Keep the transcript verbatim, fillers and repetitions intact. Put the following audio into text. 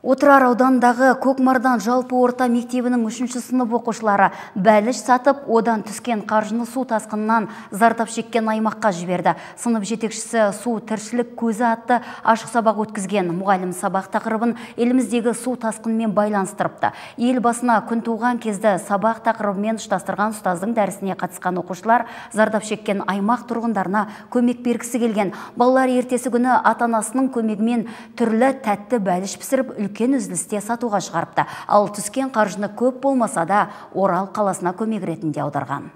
Отырар аудандағы Көкмардан жалпы орта мектебінің үшінші сынып оқушылары бәліш сатып, одан түскен қаржыны су тасқынынан зардап шеккен аймаққа жіберді. Сынып жетекшісі су тіршілік көзі атты ашық сабақ өткізген. Мұғалім сабақ тақырыбын еліміздегі су тасқынымен байланыстырыпты. Ел басына күн туған кезді сабақ тақырыбымен ұштастырған ұстаздың дәрісіне қатысқан оқушылар зардап шеккен аймақ тұрғындарына көмек бергісі келген. Балалар ертесі күні ата-анасының көмегімен түрлі тәтті бәліш пісіріп, үлкен үзілісте сатуға шығарыпты. Ал түскен қаржыны көп болмаса да Орал қаласына көмек ретінде аударған.